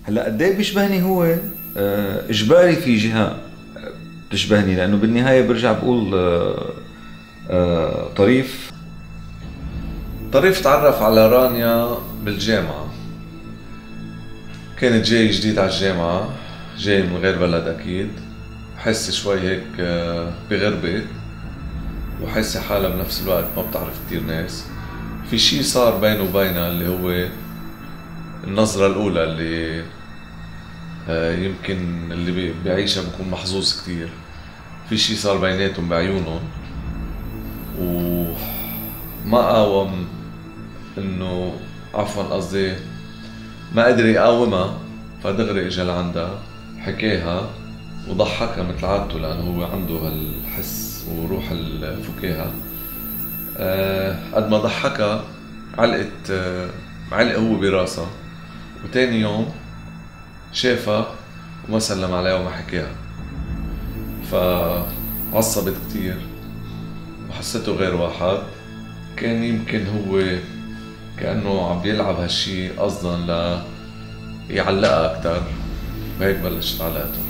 هلا قد ايه بيشبهني هو؟ اجباري في جهه بتشبهني، لانه بالنهايه برجع بقول طريف تعرف على رانيا بالجامعه. كانت جاي جديد على الجامعه، جاي من غير بلد اكيد، حس شوي هيك بغربة، وحس حالها بنفس الوقت ما بتعرف كتير ناس. في شي صار بينه وبينها اللي هو النظرة الأولى اللي يمكن اللي بيعيشها بكون محظوظ كتير. في شي صار بيناتهم بعيونهم، وما قاوم انه عفوا قصدي ما قدر يقاومها، فدغري اجا لعندها حكاها وضحكها مثل عادته، لانه هو عنده هالحس وروح الفكاهة. قد ما ضحكها علق هو براسها، وتاني يوم شافها وما سلم عليها وما حكاها، فعصبت كتير وحسته غير واحد. كان يمكن هو كأنه عم بيلعب هالشي قصدا ليعلقها أكتر، وهيك بلشت علاقتهم.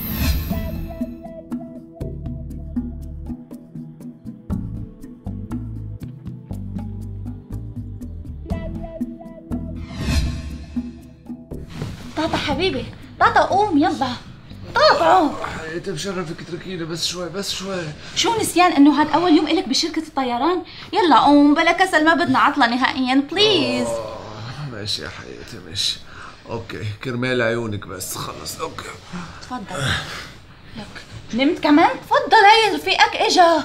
طاطا حبيبي، طاطا قوم يلا. طاطا حياتي بشرفك اتركيني بس شوي بس شوي. شو نسيان انه هاد اول يوم الك بشركة الطيران؟ يلا قوم بلا كسل، ما بدنا عطلة نهائيا بليز. ماشي يا حياتي ماشي. اوكي كرمال عيونك بس خلص. اوكي تفضل. لك نمت كمان؟ تفضل هي رفيقك اجا،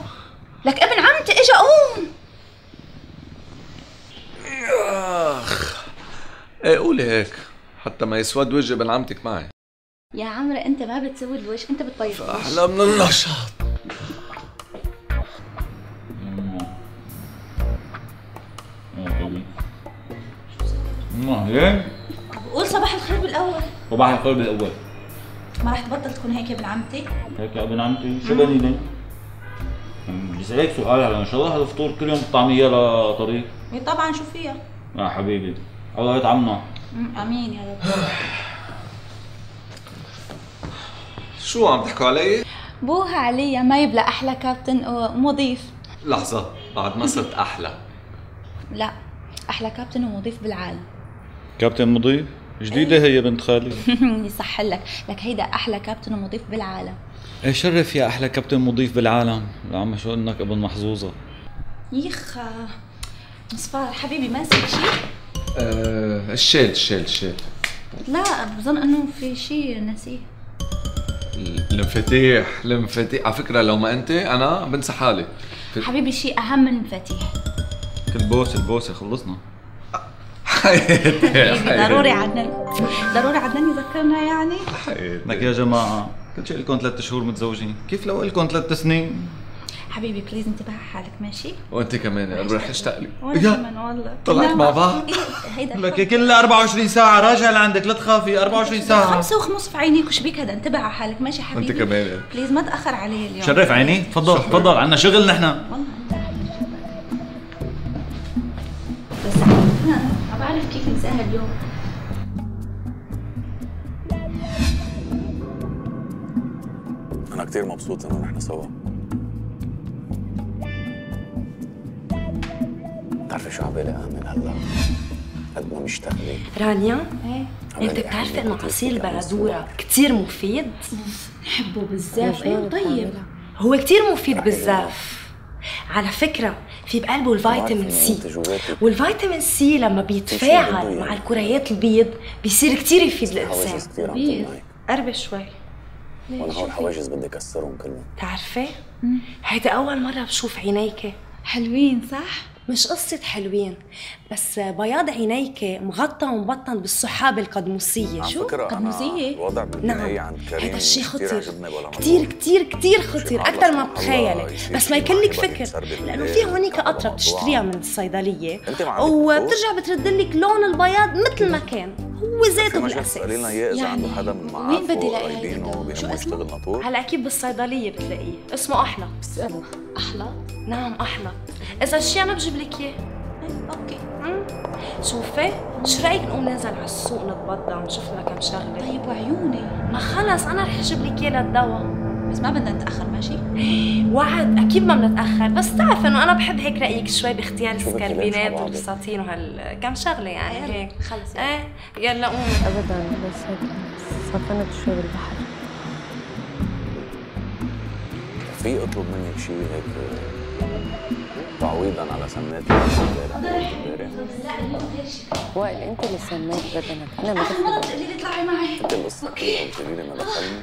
لك ابن عمتي اجا قوم. اخ ايه قولي هيك حتى ما يسود وجه ابن عمتك معي. يا عمرو انت ما بتسوي الوجه، انت بتطير الوجه. احلى من النشاط. هيك قول صباح الخير بالاول. صباح الخير بالاول. ما رح تبطل تكون هيك يا ابن عمتي؟ هيك يا ابن عمتي شو بنيني؟ بدي اسالك سؤال، على ان شاء الله هذا الفطور كل يوم طعميه لطريق؟ اي طبعا، شو فيها؟ يا حبيبي الله يطعمنا. امين يا رب. شو عم تحكوا علي؟ بوها عليا ما يبلى احلى كابتن ومضيف. لحظة، بعد ما صرت احلى. لا، احلى كابتن ومضيف بالعالم. كابتن مضيف؟ جديدة هي بنت خالي. يصح لك هيدا احلى كابتن ومضيف بالعالم. ايه شرف يا احلى كابتن مضيف بالعالم. يا عم شو انك ابن محظوظة. يخا مصفار حبيبي ما نسيت شيء؟ الشيل. لا بظن انه في شيء نسيه. المفاتيح على فكرة لو ما انت انا بنسى حالي. حبيبي شيء اهم من المفاتيح. البوسة خلصنا. حبيبي ضروري عدنان يذكرنا يعني. لك يا جماعة كل شيء لكم 3 شهور متزوجين، كيف لو لكم 3 سنين؟ حبيبي بليز انتبه على حالك ماشي؟ وانت كمان انا رح اشتاق لك. وانا كمان والله. طلعت مع بعض؟ هيدا لك كل 24 ساعة راجع لعندك، لا تخافي 24 ساعة. 5 وخمس في عينيك، وش بيك هذا؟ انتبه على حالك ماشي حبيبي؟ وانت كمان بليز ما تأخر علي اليوم. شرف عيني، تفضل عنا شغل نحن. والله بس ما بعرف كيف نساها اليوم. أنا كتير مبسوط إنه نحن سوا. بتعرفي شو عبالي أعمل هلا؟ قد ما مشتاق لك. رانيا؟ ايه؟ انت بتعرفي انه عصير البندورة كتير مفيد؟ نحبه بزاف. ايه طيب هو كتير مفيد بالزاف. على فكرة في بقلبه الفيتامين سي، والفيتامين سي لما بيتفاعل مع الكريات البيض بيصير كتير يفيد الإنسان. بيض؟ قربي شوي. وانا هول الحواجز بدي كسرهم كلهم. بتعرفي؟ هيدا أول مرة بشوف عينيكي حلوين صح؟ مش قصة حلوين، بس بياض عينيك مغطى ومبطن بالسحاب القدموسية. شو؟ قدموسية؟ الوضع بالبناية عند كريم هذا الشيء خطير كتير كتير كتير خطير أكثر ما بتخيلي، بس ما يكلك فكر، لأنه في هونيك قطرة بتشتريها من الصيدلية وبترجع بتردلك لون البياض مثل ما كان، هو ذاته بالأساس. سألينا إياه إذا عنده حدا من وين بدي معارفه الاقي قرايبينه هيدا؟ بيهمه يشتغل ناطور؟ هلا أكيد بالصيدلية بتلاقيه، اسمه أحلط. أحلى؟ نعم أحلط، إذا الشيء أنا بجيب لك إياه. اوكي. شوفي شو رايك نقوم ننزل على السوق نتبضع ونشوف لنا كم شغله؟ طيب وعيوني. ما خلص انا رح اجيب لك اياه للدواء. بس ما بدنا نتاخر ماشي؟ وعد اكيد ما بنتاخر، بس تعرف انه انا بحب هيك رايك شوي باختيار السكربينات والبساتين وهالكم شغله يعني هيك. خلص ايه يلا قومي. ابدا بس هيك سخنت شوي بالبحر. في اطلب منك شيء هيك تعويضا على سمات امبارح؟ وائل انت اللي سميت بدنك، انا ما اخر مرة بتقولي لي اطلعي معي. انت القصه كلها قلت لي ما دخلني.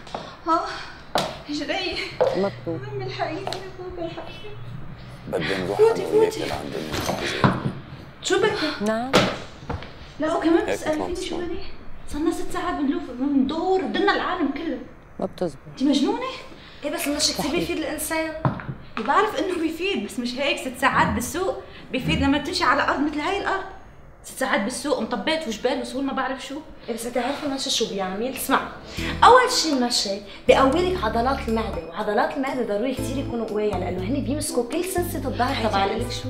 هجرية مطلوب. أم الحقيقة الحقيقة. بدي نروح انا وياك لعند المحافظة. شو بدك؟ نعم. لا وكمان بتسأليني شو بدي؟ صرنا 6 ساعات بنلوف بندور بدنا العالم كله. ما بتزبط. انت مجنونة؟ ايه بس المشي كثير بيفيد الانسان. بعرف انه بيفيد بس مش هيك 6 ساعات بالسوق بيفيد لما تمشي على ارض مثل هاي الارض. 6 ساعات بالسوق مطبات وجبال وسهول ما بعرف شو. إيه بس انت عارفه المشي شو بيعمل؟ اسمع، اول شيء المشي بيقوي لك عضلات المعده، وعضلات المعده ضروري كثير يكونوا قويه لانه هن بيمسكوا كل سلسله الظهر تبع لك شو؟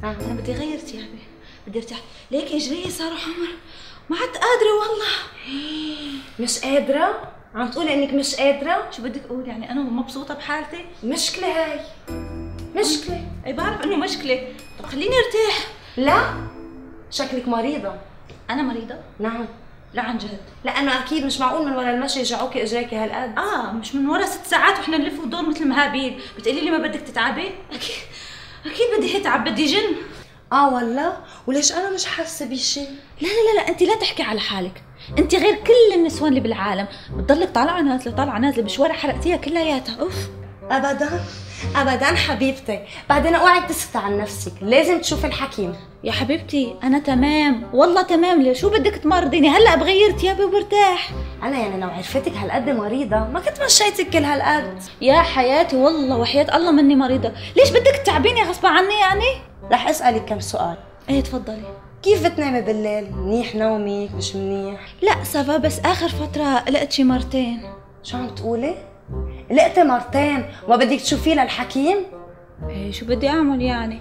انا بدي اغير ثيابي، بدي ارتاح، ليك اجري صاروا حمر، ما عاد قادره والله. مش قادره؟ عم تقولي انك مش قادره؟ شو بدك اقول يعني انا مبسوطه بحالتي؟ مشكله هاي، مشكله. اي بعرف انه مشكله، طب خليني ارتاح. لا شكلك مريضه. انا مريضه؟ نعم. لا عن جد، لانه اكيد مش معقول من ورا المشي يجعوكي اجريكي هالقد. مش من ورا 6 ساعات وإحنا نلف وندور مثل مهابيل، بتقولي لي ما بدك تتعبي؟ أكيد بدي أتعب، بدي جن. والله؟ وليش أنا مش حاسة بشي؟ لا أنت لا تحكي على حالك، أنت غير كل النسوان اللي بالعالم، بتضلك طالعة نازلة بشوارع حرقتيها كلياتها. أوف. أبدا حبيبتي، بعدين اوعي تسكتي عن نفسك، لازم تشوفي الحكيم. يا حبيبتي أنا تمام، والله تمام، ليه شو بدك تمرضيني؟ هلا بغير ثيابي وبرتاح. أنا يعني لو عرفتك هالقد مريضة ما كنت مشيتك كل هالقد. يا حياتي والله وحياة الله مني مريضة، ليش بدك تعبيني غصب عني يعني؟ رح أسألك كم سؤال. إيه تفضلي. كيف بتنامي بالليل؟ منيح نومك مش منيح؟ لا سافا، بس آخر فترة قلقت شي مرتين. شو عم تقولي؟ قلقتي مرتين وما بدك تشوفيه للحكيم؟ ايه شو بدي اعمل يعني؟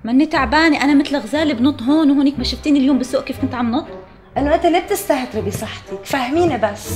ماني تعبانه، انا مثل غزاله بنط هون وهونيك، ما شفتيني اليوم بالسوق كيف كنت عم نط؟ انه انت ليه بتستهتري بصحتك؟ فهميني بس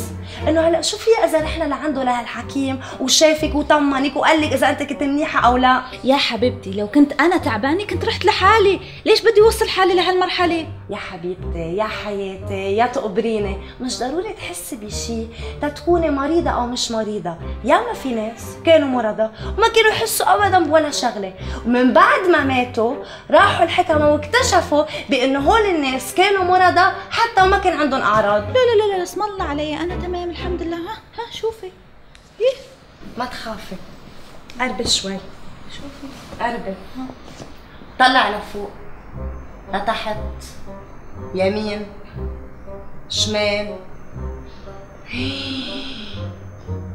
انه هلا شو في اذا رحنا لعنده لهالحكيم وشافك وطمنك وقال لك اذا انت كنت منيحه او لا؟ يا حبيبتي لو كنت انا تعبانه كنت رحت لحالي، ليش بدي اوصل حالي لهالمرحله؟ يا حبيبتي يا حياتي يا تقبريني، مش ضروري تحسي بشي تتكوني مريضه او مش مريضه، ياما في ناس كانوا مرضى وما كانوا يحسوا ابدا بولا شغله، ومن بعد ما ماتوا راحوا الحكمه واكتشفوا بانه هول الناس كانوا مرضى حتى وما كان عندهم اعراض. لا اسم الله علي، انا تمام الحمد لله. ها شوفي. إيه؟ ما تخافي، قربي شوي. شوفي قربي. طلع لفوق لتحت، يمين شمال.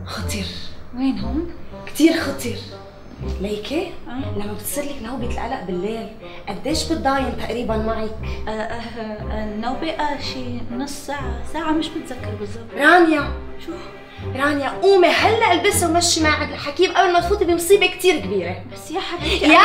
خطير. وين هون؟ كتير خطير. ليكي لما بتصير لك نوبة القلق بالليل قديش بتضاين تقريبا معك؟ النوبة شي نص ساعة مش متذكر بالضبط. رانيا شو؟ رانيا قومي هلا البسي ومشي معك الحكيم قبل ما تفوتي بمصيبة كتير كبيرة. بس يا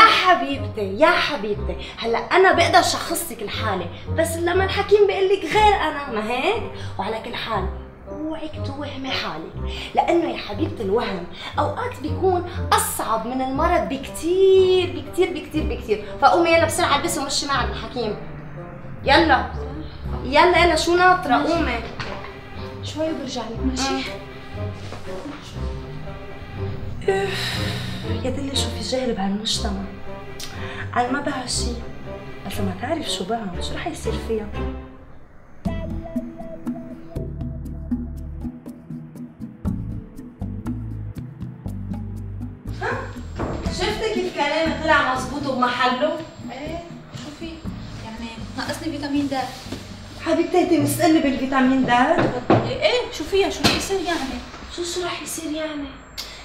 حبيبتي يا حبيبتي هلا أنا بقدر شخصك الحالة، بس لما الحكيم بيقول لك غير أنا، ما هيك؟ وعلى كل حال اوعك توهمي حالك، لانه يا حبيبتي الوهم اوقات بيكون اصعب من المرض بكتير بكتير بكتير بكتير. فقومي يلا بسرعه البسي ومشي معك الحكيم. يلا شو ناطره؟ قومي شوي وبرجع لك. ماشي. يا دلي شو في جهل بهالمجتمع، انا ما بها شي، بس ما تعرف شو بها شو رح يصير فيها. شفتي كيف كلامي طلع مزبوط وبمحله؟ ايه شوفي يعني ناقصني فيتامين د. حبيبتي انت مستقلة بالفيتامين د؟ ايه شو فيها؟ شو رح يصير يعني؟ شو رح يصير يعني؟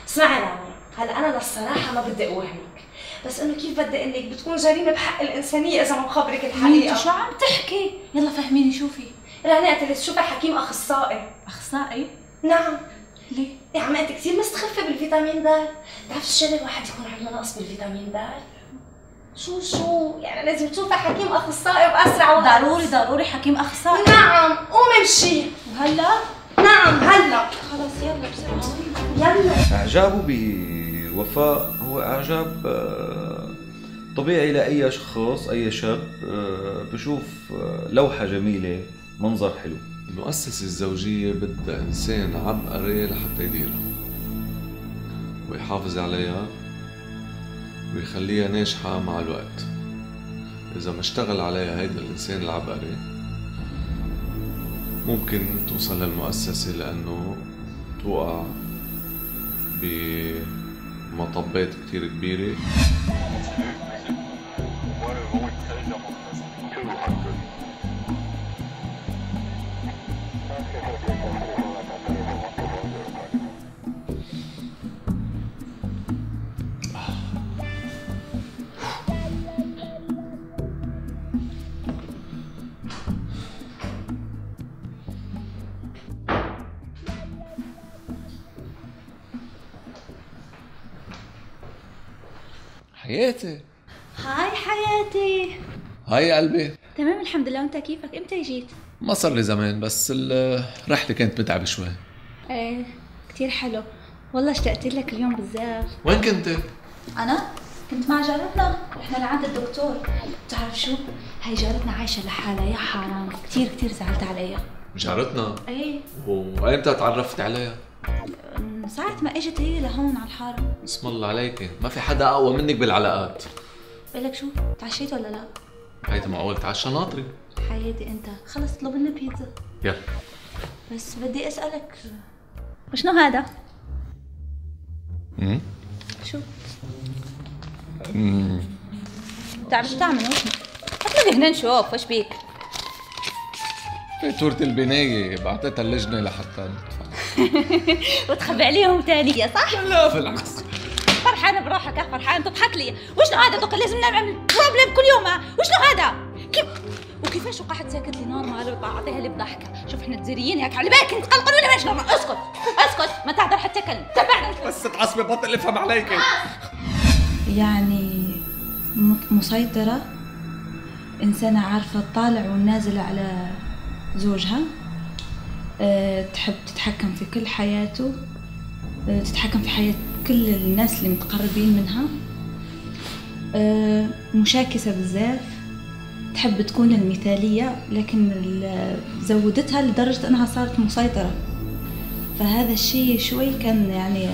اسمعي رانيا، هلا انا للصراحة ما بدي اوهمك، بس انه كيف بدي اقول لك بتكون جريمة بحق الانسانية اذا ما بخبرك الحقيقة. شو عم تحكي؟ يلا فهميني. شوفي رانيا انت اللي تشوفي حكيم اخصائي. اخصائي؟ نعم. ليه؟ يا عمي انت كثير مستخفة بالفيتامين د، بتعرفي الشغله الواحد يكون عنده نقص بالفيتامين د؟ شو يعني لازم تشوفي حكيم اخصائي باسرع وقت. ضروري حكيم اخصائي. نعم قومي امشي. وهلا؟ نعم هلا. خلص يلا بسرعه. يلا. إعجابه بوفاء هو إعجاب طبيعي لأي شخص، أي شاب بشوف لوحة جميلة، منظر حلو. المؤسسة الزوجية بدها إنسان عبقري لحتى يديرها ويحافظ عليها ويخليها ناجحة مع الوقت. إذا ما اشتغل عليها هيدا الإنسان العبقري ممكن توصل للمؤسسة لأنه توقع بمطبات كتير كبيرة. حياتي. هاي حياتي. هاي يا قلبي. تمام الحمد لله، وانت كيفك؟ امتى جيت؟ ما صار لي زمان، بس الرحلة كانت متعبة شوي. ايه كتير حلو والله، اشتقت لك اليوم بزاف. وين كنت؟ انا كنت مع جارتنا، رحنا لعند الدكتور. بتعرف شو؟ هاي جارتنا عايشه لحالها، يا حرام كتير زعلت عليها. جارتنا؟ ايه. وأيمتى تعرفت عليها؟ من ساعة ما اجت هي لهون على الحارة. اسم الله عليك، ما في حدا أقوى منك بالعلاقات. بقولك شو، تعشيت ولا لا؟ هيدا معقول تعشى ناطري؟ حياتي انت، خلص اطلب لنا بيتزا. يلا. بس بدي اسألك، وشنو هذا؟ شو؟ بتعرف شو تعمل؟ اطلبي هنا نشوف وش بيك. فاتورة البناية بعتتها اللجنة لحتى ندفع. وتخبي عليهم ثانية صح؟ لا بالعكس. فرحانة بروحك يا فرحان، تضحك لي. وشنو هذا؟ دوك لازم نعمل بروبلم كل يوم. وشنو هذا؟ وكيفاش وقعت ساكت لي نورمال بعطيها لي بضحكة. شوف احنا تزريين هيك على بالك انت قلقل ولا ماشي نورمال. اسكت ما تهدر حتى كلمة. تبعنا بس تعصبي بطل افهم عليك. يعني مسيطرة، إنسانة عارفة الطالع والنازل على زوجها، تحب تتحكم في كل حياته، تتحكم في حياة كل الناس اللي متقربين منها، مشاكسة بزاف، تحب تكون المثالية، لكن زودتها لدرجة أنها صارت مسيطرة. فهذا الشيء شوي كان يعني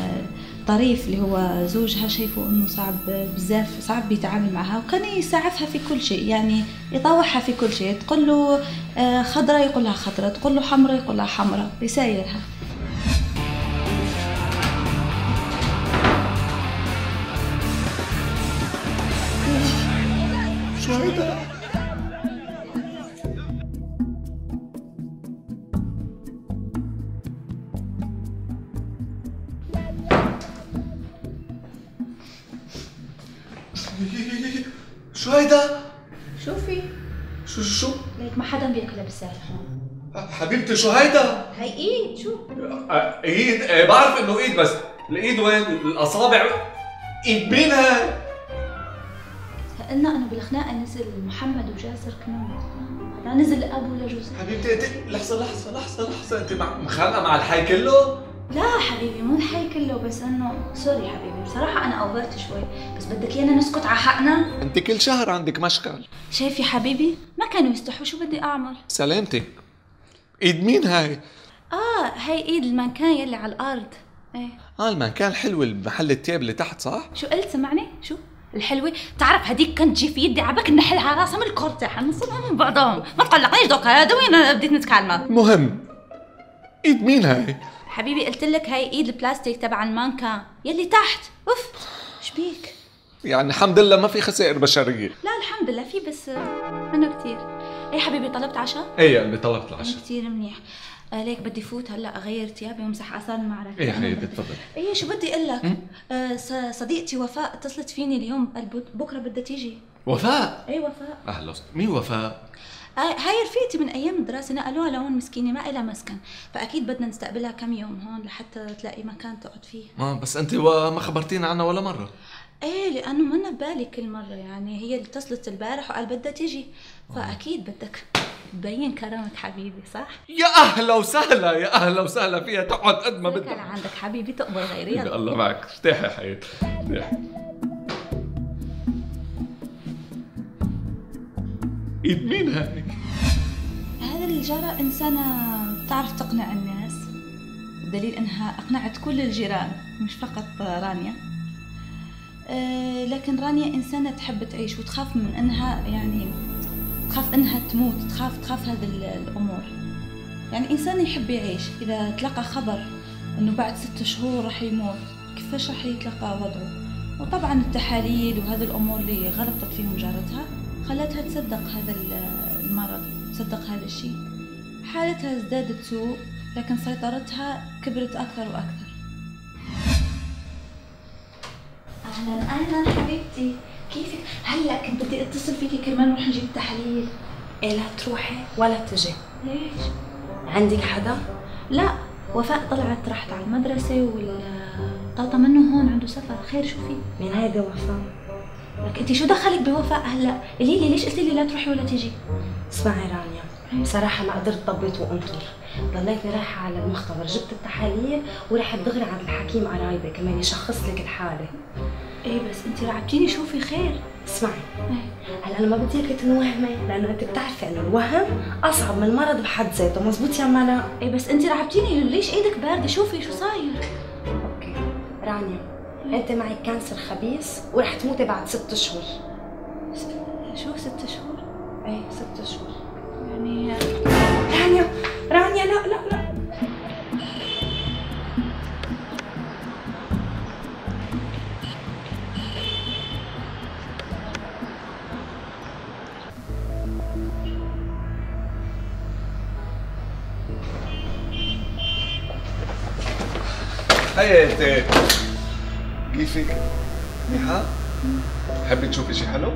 طريف، اللي هو زوجها شايفه انه صعب بزاف، صعب بيتعامل معها، وكان يسعفها في كل شيء، يعني يطوعها في كل شيء. تقول له خضرة يقول لها خضرة، تقول له حمرة يقول لها حمرة، يسايرها. شو هيدا؟ شو هيدا؟ شوفي شو ليك ما حدا بياكلها بالساحل. حبيبتي شو هيدا؟ هي ايد. شو ايد؟ بعرف انه ايد، بس الايد وين؟ الاصابع؟ ايد مين هاي؟ قلنا انه بالخناقه نزل محمد وجاسر كمان، هذا نزل اب ولا جوز. حبيبتي انت لحظه انت مخانقه مع الحي كله؟ لا حبيبي مو الحي كله، بس انه سوري حبيبي بصراحه انا اوفرت شوي، بس بدك ايانا نسكت على حقنا؟ انت كل شهر عندك مشكل. شايف يا حبيبي ما كانوا يستحوا، شو بدي اعمل؟ سلامتك. ايد مين هاي؟ هاي ايد المكان يلي على الارض. ايه المكان الحلو المحل التياب اللي تحت صح؟ شو قلت؟ سمعني. شو الحلوة؟ بتعرف هديك كانت تجي في يدي عبك نحلها راسها من الكورتة، حنصلها من بعضهم. ما تقلقنيش دوك، هذا وين بديت نتكلم. مهم ايد مين هاي؟ حبيبي قلت لك هاي ايد البلاستيك تبع المانكا يلي تحت. اوف ايش بيك؟ يعني الحمد لله ما في خسائر بشريه. لا الحمد لله في، بس منه كثير. ايه حبيبي طلبت عشاء؟ ايه يا قلبي طلبت العشاء. كثير منيح. ليك بدي فوت هلا اغير ثيابي وامسح اثار المعركه. ايه حبيبي تفضل. ايه شو بدي اقول لك، صديقتي وفاء اتصلت فيني اليوم، بكره بدها تيجي. وفاء؟ ايه وفاء. اهلا وسهلا. مين وفاء؟ هاي رفيقتي من ايام الدراسه، نقلوها لهون مسكينه ما إلها مسكن، فاكيد بدنا نستقبلها كم يوم هون لحتى تلاقي مكان تقعد فيه. بس انت ما خبرتينا عنها ولا مره. ايه لانه منا ببالي كل مره، يعني هي اللي اتصلت البارح وقال بدها تيجي، فاكيد بدك تبين كرمك حبيبي، صح؟ يا اهلا وسهلا، يا اهلا وسهلا فيها، تقعد قد ما بدك بدها. عندك حبيبي تقبل غيري. يلا الله معك، ارتاحي يا حياتي ارتاحي. ايد مين هاي؟ هذا الجارة إنسانة بتعرف تقنع الناس، دليل إنها أقنعت كل الجيران مش فقط رانيا. لكن رانيا إنسانة تحب تعيش وتخاف من إنها، يعني تخاف إنها تموت، تخاف هذه الأمور. يعني إنسان يحب يعيش، إذا تلقى خبر إنه بعد 6 شهور رح يموت كيفاش رح يتلقى وضعه؟ وطبعا التحاليل وهذه الأمور اللي غلطت فيهم جارتها خلتها تصدق هذا المرض، تصدق هذا الشيء. حالتها ازدادت سوء، لكن سيطرتها كبرت أكثر وأكثر. أهلا حبيبتي، كيفك؟ هلا كنت بدي اتصل فيكي كرمال نروح نجيب التحاليل. إيه لا تروحي ولا تجي. ليش؟ عندك حدا؟ لا، وفاء طلعت راحت على المدرسة والطاطا منه هون عنده سفر. خير شو في؟ مين هيدا وفاء؟ لك انت شو دخلك بوفاء هلا؟ قولي لي ليش قلتي لي لا تروحي ولا تيجي؟ اسمعي رانيا، بصراحة ما قدرت ضبط وانطر، ضليتني رايحة على المختبر، جبت التحاليل ورحت دغري عند الحكيم قرايبي كمان يشخص لك الحالة. ايه بس انت رعبتيني، شوفي خير. اسمعي، هلا انا ما بدي اياكي تنوهمي، لانه انت بتعرفي انه الوهم اصعب من المرض بحد ذاته، مزبوط يا ملا؟ ايه بس انت رعبتيني، ليش ايدك باردة؟ شوفي شو صاير. اوكي رانيا، انت معك كانسر خبيث ورح تموتي بعد 6 شهور. شو 6 شهور؟ ايه 6 شهور يعني. رانيا لا لا لا، حياتي كيفك؟ منيحة؟ حبي تشوفي شي حلو؟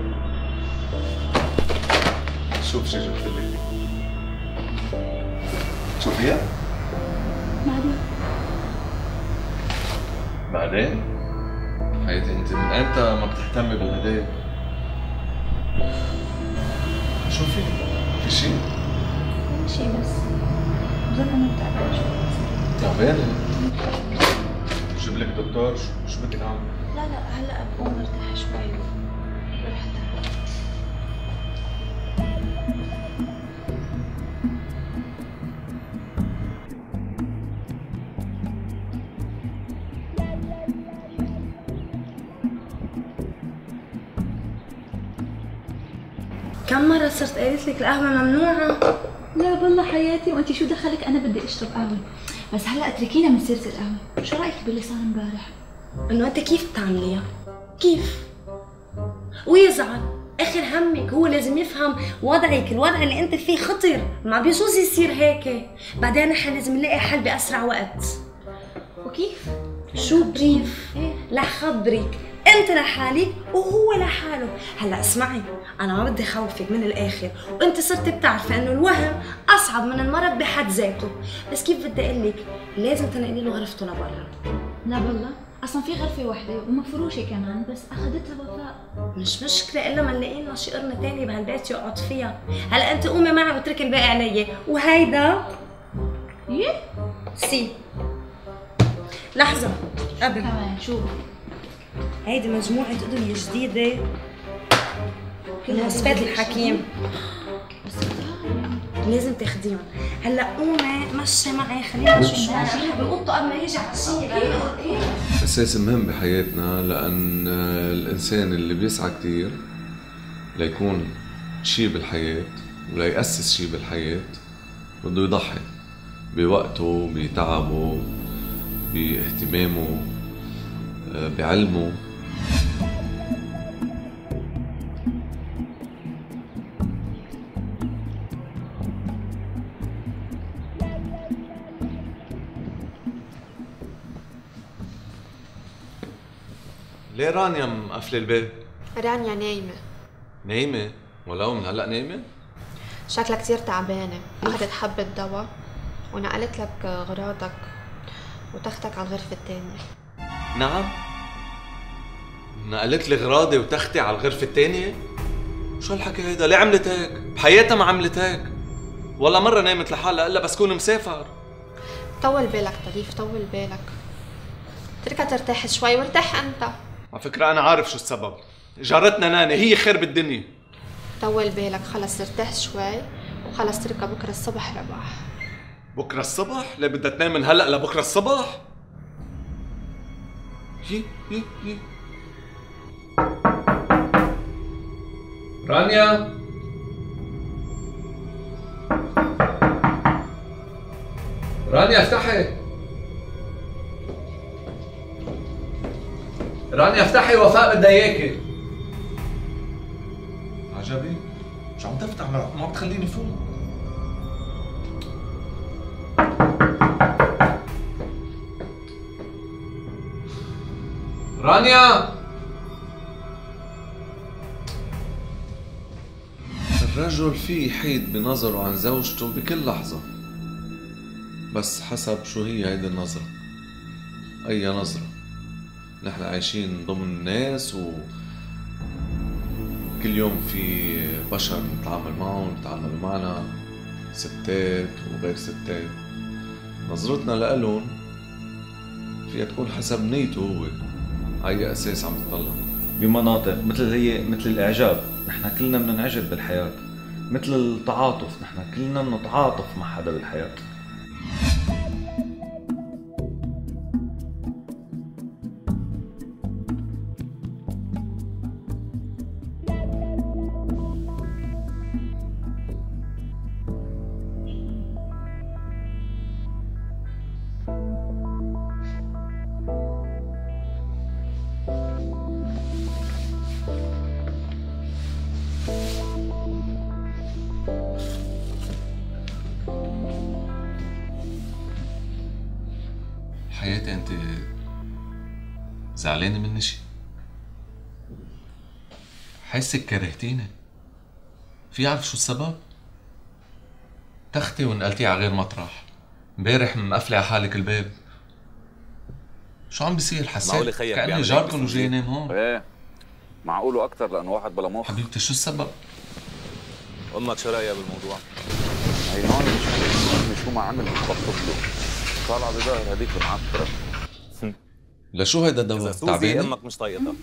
شوف شي جبت لك. شوفيها؟ بعدين؟ حياتي انت من امتى ما بتهتمي بالهدايا؟ شوفي في شي؟ في شي بس بظن انا تعبانة شوي. تعبانة؟ جيب لك دكتور، شو بدك اعمل؟ لا هلا بقوم ارتاح شوي ورح اتعب. كم مرة صرت قايلت لك القهوة ممنوعة؟ لا والله حياتي، وانت شو دخلك؟ انا بدي اشرب قهوة، بس هلا اتركينا من سيرة القهوة. شو رايك باللي صار امبارح؟ انه انت كيف بتعمليها؟ كيف؟ ويزعل، اخر همك هو لازم يفهم وضعك، الوضع اللي انت فيه خطر، ما بيجوز يصير هيك، بعدين نحن لازم نلاقي حل باسرع وقت. وكيف؟ شو كيف؟ رح خبرك، انت لحالك وهو لحاله. هلا اسمعي، انا ما بدي خوفك من الاخر، وانت صرت بتعرفي انه الوهم اصعب من المرض بحد ذاته، بس كيف بدي اقول لك، لازم تنقلي له غرفته لبرا. لا والله اصلا في غرفه واحده ومفروشه كمان، بس اخذتها وفاء. مش مشكله الا ما نلاقي لنا شي قرنه ثانيه بهالبيت يقعد فيها. هلا انت قومي معي واتركي الباقي علي. وهيدا ايه سي لحظه قبل كمان شو؟ هيدي مجموعه ادويه جديده من وصفات الحكيم، بس لازم تاخديهم. هلا قومي مشي معي، خلينا نشوف شو عم بقطه قبل ما يجي على الشيء. أساس مهم بحياتنا، لأن الإنسان اللي بيسعى كتير ليكون شي بالحياة وليأسس شي بالحياة بده يضحي بوقته، بتعبه، باهتمامه، بعلمه. ليه رانيا مقفلة الباب؟ رانيا نايمة. نايمة؟ ولو من هلا نايمة؟ شكلها كتير تعبانة، أخذت حبة دواء ونقلت لك أغراضك وتاخدك على الغرفة الثانية. نعم؟ نقلت لي غراضي وتختي على الغرفة الثانية؟ شو هالحكي هيدا؟ ليه عملت هيك؟ بحياتها ما عملت هيك. ولا مرة نامت لحالها إلا بس كون مسافر. طول بالك طريف، طول بالك. اتركها ترتاح شوي وارتاح انت. على فكرة أنا عارف شو السبب. جارتنا ناني هي خير بالدنيا. طول بالك، خلص ارتاح شوي وخلص اتركها بكره الصبح رباح. بكرة الصبح؟ ليه بدها تنام من هلأ لبكرة الصبح؟ يي. رانيا رانيا افتحي. رانيا افتحي، وفاء بدها اياكي. عجبي؟ شو عم تفتح؟ ما بتخليني فوق. رانيا الرجل فيه يحيد بنظره عن زوجته بكل لحظة، بس حسب شو هي هيدي النظرة. أي نظرة؟ نحن عايشين ضمن الناس وكل يوم في بشر نتعامل معهم، نتعامل معنا، ستات وغير ستات. نظرتنا لألون فيها تكون حسب نيته هو، على أي أساس عم تطلع. بمناطق مثل الإعجاب، نحن كلنا بدنا نعجب بالحياة. مثل التعاطف، نحن كلنا بنتعاطف مع حدا بالحياة. حياتي انت زعلانة مني شي؟ حاسك كرهتيني. في عارف شو السبب؟ تختي ونقلتي على غير مطرح. امبارح مقفلة على حالك الباب. شو عم بيصير؟ حسيت كأني جاركن وجاي ينام هون. ايه معقول واكثر لانه واحد بلا مخ. حبيبتي شو السبب؟ امك شو رايها بالموضوع؟ هي هون مش شو ما عمل بتخطط له. طالعه بظهر هذيك المعطره. لشو هيدا الدواء؟ تعبانة؟ امك مش طايقتها.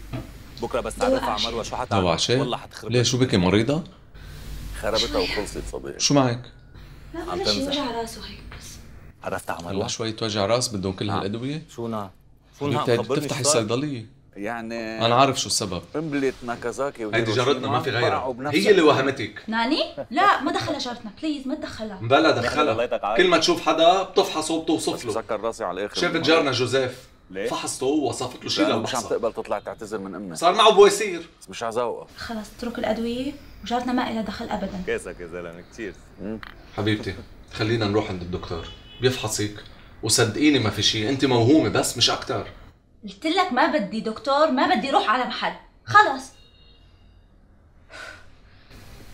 بكره بس تعرفها على مروه شو حتعمل؟ دواء عشاء؟ والله حتخرب. ليه شو بكي مريضة؟ خربتها وخلصت صديق. شو معك؟ لا ولا شيء، وجع راسه هيك بس. عرفتها على هلا مروه؟ شوية وجع راس بدهم كل هالأدوية؟ شو نعم؟ حبيبتي تفتحي الصيدلية. يعني أنا عارف شو السبب. قنبلة ناكازاكي هيدي جارتنا ما في غيرها، هي اللي وهمتك. ناني؟ لا ما دخلها جارتنا، بليز ما تدخلها. بلا دخلها. كل ما تشوف حدا بتفحصه وبتوصف له. سكر راسي على الاخر. شافت جارنا جوزيف، فحصته ووصفت له شيء للبحصة. مش عم تقبل تطلع تعتذر من امك. صار معه بواسير. بس مش عزوقها. خلص اترك الأدوية وجارتنا ما إلها دخل أبدا. كيسك يا زلمة كتير. حبيبتي خلينا نروح عند الدكتور بيفحصك، وصدقيني ما في شيء، انت موهومة بس مش أكتر. قلت لك ما بدي دكتور، ما بدي روح على محل، خلص.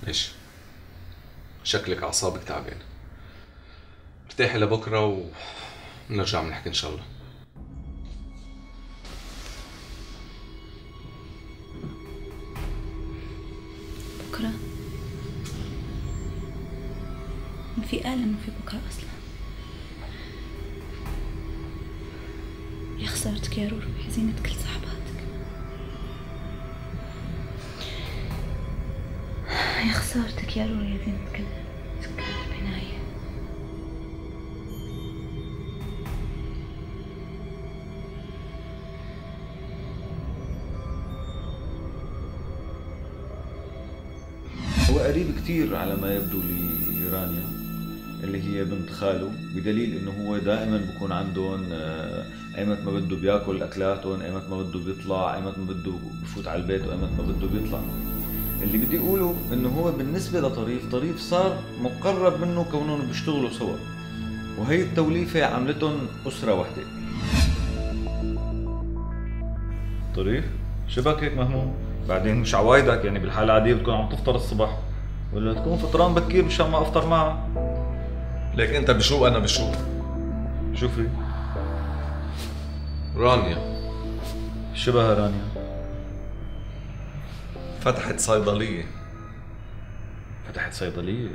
ليش؟ شكلك أعصابك تعبانة. ارتاحي لبكرة ونرجع بنحكي إن شاء الله. بكرة؟ ما في قال إنه في بكرة أصلا. يا خسارتك يا رورو بحزينة كل صحباتك. يا خسارتك يا رورو يا زينة كل سكان البناية. هو قريب كتير على ما يبدو لرانيا اللي هي بنت خاله، بدليل انه هو دائما بكون عندهم ايمت ما بده بياكل اكلاتهم، ايمت ما بده بيطلع، ايمت ما بده بفوت على البيت، وايمت ما بده بيطلع. اللي بدي اقوله انه هو بالنسبه لطريف صار مقرب منه كونهم بيشتغلوا سوا، وهي التوليفه عملتهم اسره وحده. طريف شبك هيك مهموم؟ بعدين مش عوايدك يعني بالحاله العاديه بتكون عم تفطر الصبح، ولا تكون فطران بكير مشان ما افطر معها. ليك انت بشو انا بشو؟ شوفي رانيا شبه رانيا. فتحت صيدلية. فتحت صيدلية؟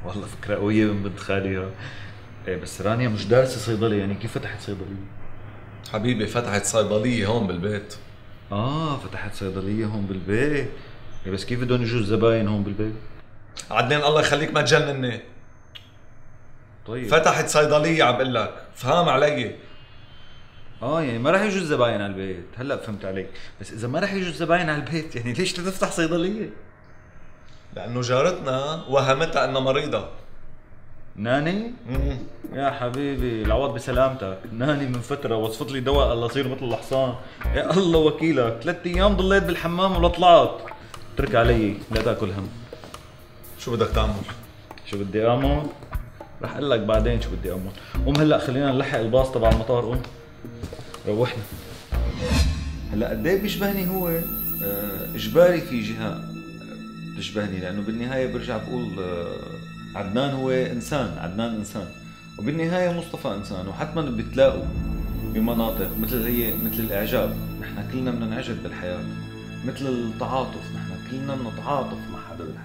والله فكرة قوية من بنت خالي. ايه بس رانيا مش دارسة صيدلة، يعني كيف فتحت صيدلية؟ حبيبي فتحت صيدلية هون بالبيت. فتحت صيدلية هون بالبيت. إيه بس كيف بدهم يجوا الزباين هون بالبيت؟ عدنان الله يخليك ما تجنني. طيب فتحت صيدلية عم بقول لك، فهم علي. يعني ما راح يجوا الزباين على البيت. هلا فهمت عليك، بس اذا ما راح يجوا الزباين على البيت يعني ليش تفتح صيدلية؟ لانه جارتنا وهمتها انها مريضة. ناني؟ يا حبيبي العوض بسلامتك. ناني من فترة وصفت لي دواء الله يصير مثل الحصان. يا الله وكيلك، 3 ايام ضليت بالحمام ولا طلعت. اترك علي لا تاكل هم. شو بدك تعمل؟ شو بدي اعمل؟ رح اقول لك بعدين شو بدي اعمل. قوم هلا خلينا نلحق الباص تبع المطار. قوم روحنا. هلا قد ايه بيشبهني هو؟ اجباري في جهه بتشبهني، لانه بالنهايه برجع بقول عدنان هو انسان، عدنان انسان، وبالنهايه مصطفى انسان، وحتما بتلاقوا بمناطق مثل الاعجاب. نحن كلنا بدنا نعجب بالحياه، مثل التعاطف، نحن كلنا بنتعاطف مع حدا بالحياه.